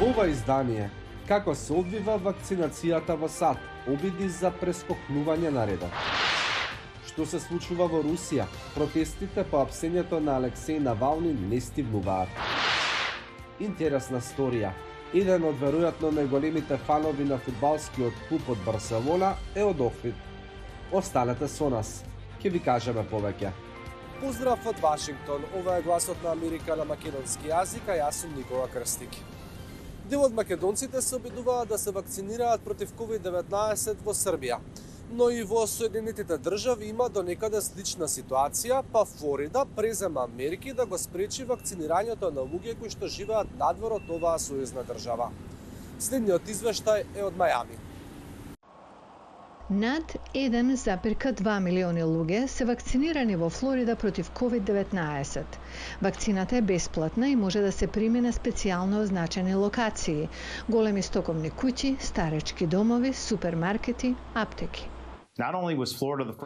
Во ова издание, како се одвива вакцинацијата во САД, обиди за прескокнување на редот. Што се случува во Русија, протестите по апсењето на Алексеј Навални не стигнуваат. Интересна сторија. Еден од веројатно најголемите фанови на фудбалскиот клуб од Барселона е од Охрид. Останете со нас, ќе ви кажеме повеќе. Поздрав од Вашингтон, ова е гласот на Америка на македонски јазик, а јас сум Никола Крстик. Дел од македонците се обидуваат да се вакцинираат против COVID-19 во Србија. Но и во Соединетите држави има до некаде слична ситуација, па Флорида презема мерки да го спречи вакцинирањето на луѓе кои што живеат надвор од оваа сојузна држава. Следниот извештај е од Мајами. Над 1,2 милиони луѓе се вакцинирани во Флорида против COVID-19. Вакцината е бесплатна и може да се прими на специјално означени локации: големи стоковни куќи, старечки домови, супермаркети, аптеки.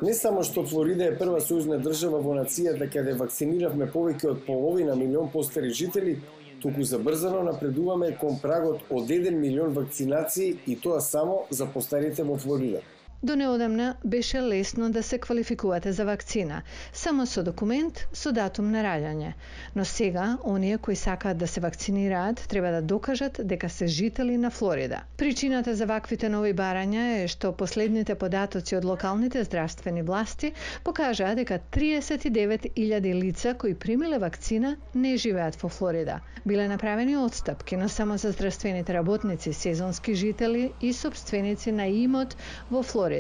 Не само што Флорида е прва сојузна држава во нацијата каде вакциниравме повеќе од половина милион постари жители, туку забрзано напредуваме кон прагот од 1 милион вакцинации и тоа само за постарите во Флорида. До неодамна беше лесно да се квалификувате за вакцина, само со документ со датум на раѓање. Но сега, оние кои сакаат да се вакцинираат, треба да докажат дека се жители на Флорида. Причината за ваквите нови барања е што последните податоци од локалните здравствени власти покажаа дека 39.000 лица кои примиле вакцина не живеат во Флорида. Биле направени отстапки, но само за здравствените работници, сезонски жители и сопственици на имот во Флорида.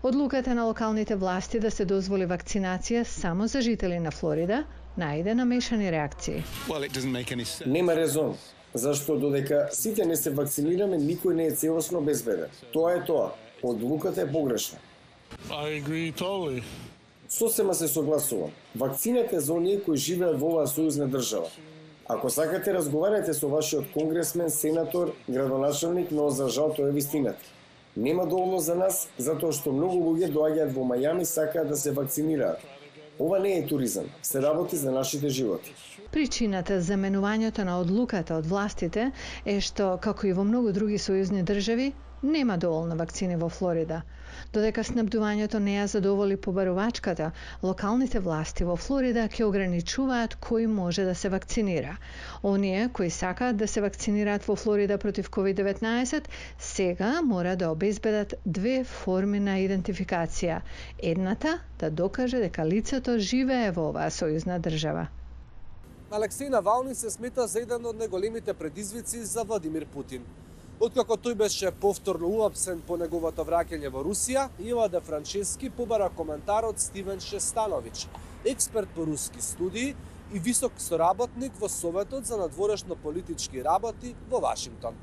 Одлуката на локалните власти да се дозволи вакцинација само за жители на Флорида најде намешани реакции. Нема резон, зашто додека сите не се вакцинираме, никој не е целосно безбеден. Тоа е тоа. Одлуката е погрешна. Сосема се согласувам. Вакцината е за оние кои живеат во оваа сојузна држава. Ако сакате, разговарате со вашиот конгресмен, сенатор, градоначелник, но за жал тоа е вистината. Нема доволно за нас, затоа што многу луѓе доаѓаат во Мајами, сакаат да се вакцинираат. Ова не е туризам, се работи за нашите животи. Причината за менувањето на одлуката од властите е што, како и во многу други сојузни држави, нема доволно вакцини во Флорида. Додека снабдувањето не ја задоволи побарувачката, локалните власти во Флорида ќе ограничуваат кој може да се вакцинира. Оние кои сакаат да се вакцинираат во Флорида против COVID-19 сега мора да обезбедат две форми на идентификација. Едната да докаже дека лицето живее во оваа сојузна држава. Алексеј Навални се смета за еден од најголемите предизвици за Владимир Путин. Откако тој беше повторно уапсен по неговото враќање во Русија, Ива де Франчески побара коментар од Стивен Шестановиќ, експерт по руски студии и висок соработник во Советот за надворешно политички работи во Вашингтон.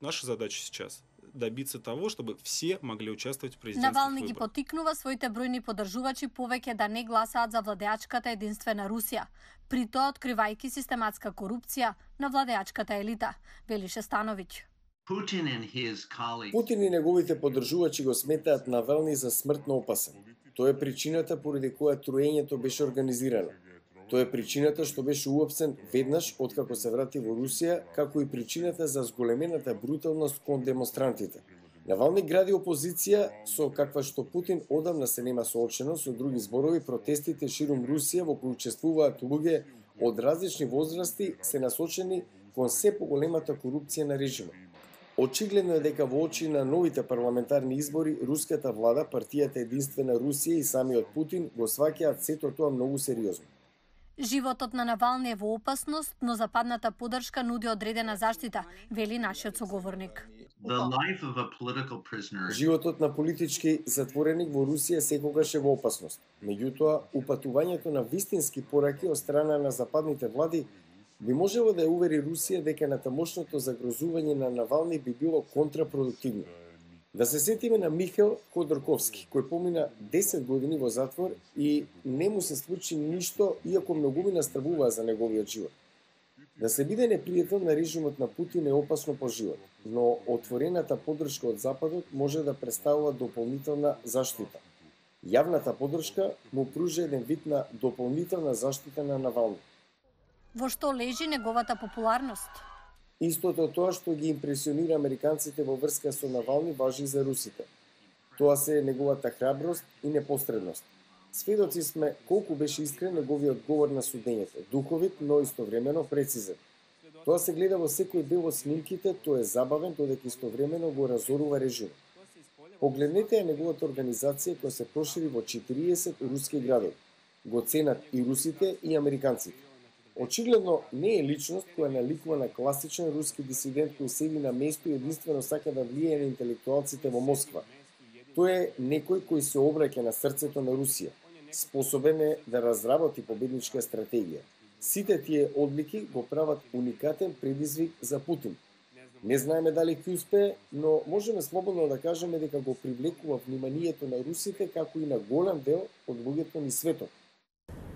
Наша задача сейчас добиться того, чтобы все могли участвовать в президентских Навални выборах. ги поттикнува своите бројни поддржувачи повеќе да не гласаат за владеачката единствена Русија, при тоа откривајќи систематска корупција на владеачката елита, вели Шестановиќ. Путин и неговите поддржувачи го сметаат Навални за смртно опасен. Тоа е причината поради која труењето беше организирано. Тоа е причината што беше уапсен веднаш откако се врати во Русија, како и причината за зголемената бруталност кон демонстрантите. Навални гради опозиција со каква што Путин одамна се нема соочено, со други зборови протестите ширум Русија во кои учествуваат луѓе од различни возрасти се насочени кон се поголемата корупција на режимот. Очигледно е дека во очи на новите парламентарни избори, руската влада, партијата Единствена Русија и самиот Путин го сваќаат сето тоа многу сериозно. Животот на Навални е во опасност, но западната поддршка нуди одредена заштита, вели нашиот соговорник. Животот на политички затвореник во Русија секогаш е во опасност. Меѓутоа, упатувањето на вистински пораки од страна на западните влади би можело да ја увери Русија дека натамошното загрозување на Навални би било контрапродуктивно. Да се сетиме на Михаил Ходорковски, кој помина 10 години во затвор и не му се случи ништо, иако многумина стравуваа за неговиот живот. Да се биде непријател на режимот на Путин е опасно по живот, но отворената поддршка од Западот може да представува дополнителна заштита. Јавната поддршка му пружа еден вид на дополнителна заштита на Навални. Во што лежи неговата популарност? Истото тоа што ги импресионира американците во врска со Навални важи и за русите. Тоа се неговата храброст и непосредност. Сведоци сме колку беше искрен неговиот говор на судењето, духовит, но истовремено прецизен. Тоа се гледа во секој дел од снимките, тој е забавен, додека истовремено го разорува режимот. Погледнете ја неговата организација која се прошири во 40 руски градови. Го ценат и русите и американците. Очигледно не е личност која наликува на класичен руски дисидент кој седи на место и единствено сака да влијае на интелектуалците во Москва. Тој е некој кој се обраќа на срцето на Русија. Способен е да разработи победничка стратегија. Сите тие одлики го прават уникатен предизвик за Путин. Не знаеме дали ќе успее, но можеме слободно да кажеме дека го привлекува вниманието на русите како и на голем дел од луѓето низ светот.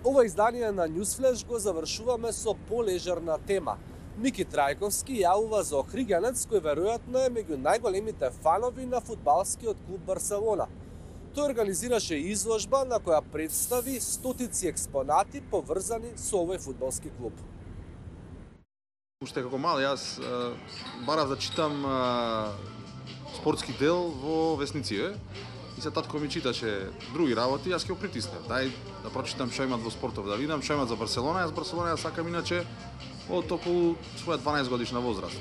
Ова издание на Newsflash го завршуваме со полежерна тема. Мики Трајковски јавува за охриѓанец кој веројатно е меѓу најголемите фанови на фудбалскиот клуб Барселона. Тој организираше изложба на која представи стотици експонати поврзани со овој фудбалски клуб. Уште како мал јас барав да читам спортски дел во весниците. И се татко ми читаше други работи, јас ќе го притиснав. Дај да прочитам што имат во спортов, да видам што имат за Барселона. Јас Барселона ја сакам иначе од околу своја 12 годишна возраст.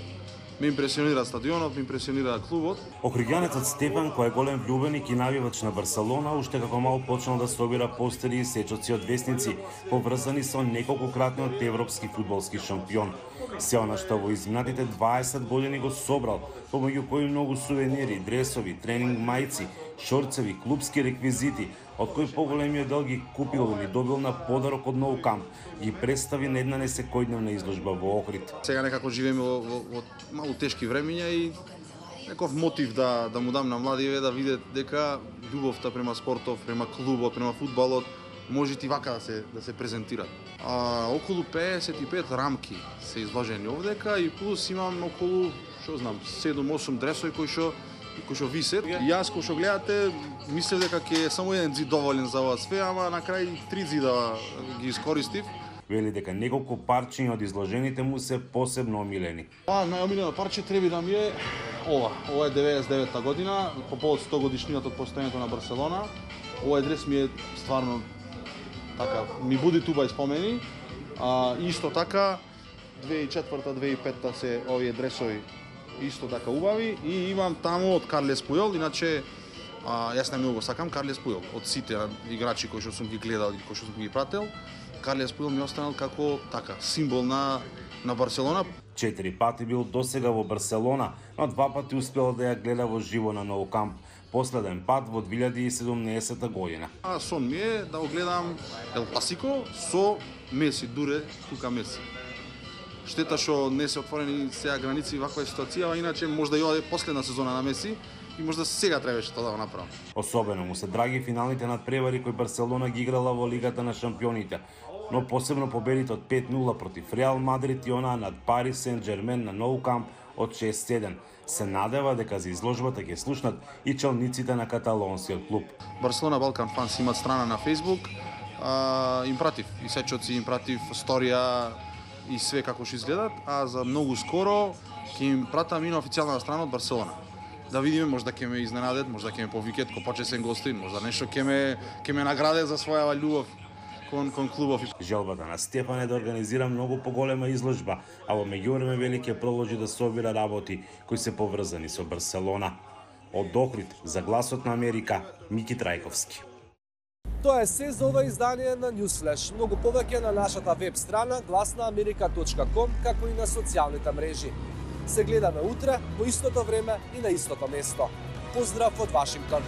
Ме импресионира стадионот, ме импресионира клубот. Охриѓанецот Стефан, кој е голем влюбеник и навивач на Барселона, уште како мал почнал да собира постери и сечоци од весници, поврзани со неколкократниот европски фудбалски шампион. Се она што во изминатите 20 години го собрал, помеѓу кои многу сувенири, дресови, тренинг мајци, шорцеви, клубски реквизити, од кои поголемиот дел ги купил или добил на подарок од Nou Camp, ги представи на една несекојдневна изложба во Охрид. Сега некако живееме во малку тешки времиња и неков мотив да му дам на младиве да видат дека љубовта према спортов, према клубот, према фудбалот може и вака да се презентира. Околу 55 рамки се изложени овдека и плюс имам околу, што знам, 7-8 дресови кои што висат. Јас кој што гледате, мислев дека ќе само еден зид доволен за ова све, ама на крај 3 зида ги искористив. Вели дека неколку парчиња од изложените му се посебно омилени. Најомилено парче треба да ми е ова. Ова е 99-та година, по повод 100 годишнината од постојањето на Барселона. Овој дрес ми е стварно така, ми буди туба и спомени. Исто така 2004-2005 се овие дресови исто така убави и имам таму од Карлес Пујол, иначе јас најмногу го сакам Карлес Пујол. Од сите играчи кои што сум ги гледал и кои што сум ги прател, Карлес Пујол ми останал како така символ на Барселона. 4 пати бил досега во Барселона, но 2 пати успел да ја гледа во живо на Nou Camp. Последен пат во 2017 година. Сон ми е да го гледам Ел Класико со Меси, дуре тука Меси. Штета што не се отворени сега граници ваква ситуација, а иначе можда и ова е последна сезона на Меси и можда сега требаше тоа да го направам. Особено му се драги финалните надпревари кои Барселона ги играла во Лигата на шампионите, но посебно победите од 5-0 против Реал Мадрид и она над Парис Сен-Жермен на Nou Camp од 6-7. Се надева дека за изложбата ќе слушнат и челниците на каталонскиот клуб. Барселона Балкан Фанс имат страна на Facebook, им пратив и сечоци, им пратив сторија и све како што изгледат, а за многу скоро ќе им пратам и на официјална страна од Барселона. Да видиме, можда ќе ме изненадат, можда ќе ме повикат ко почесен гостин, можда нешто ќе ме наградат за својава љубов кон клубов. Желбата на Стефан е да организира многу поголема изложба, а во меѓувреме вели ќе продолжи да собира работи кои се поврзани со Барселона. Од Охрид за Гласот на Америка, Мики Трајковски. Тоа е се за ова издание на Newsflash. Многу повеќе на нашата веб страна glasnaamerika.com, како и на социјалните мрежи. Се гледаме утре, по истото време и на истото место. Поздрав од Вашингтон!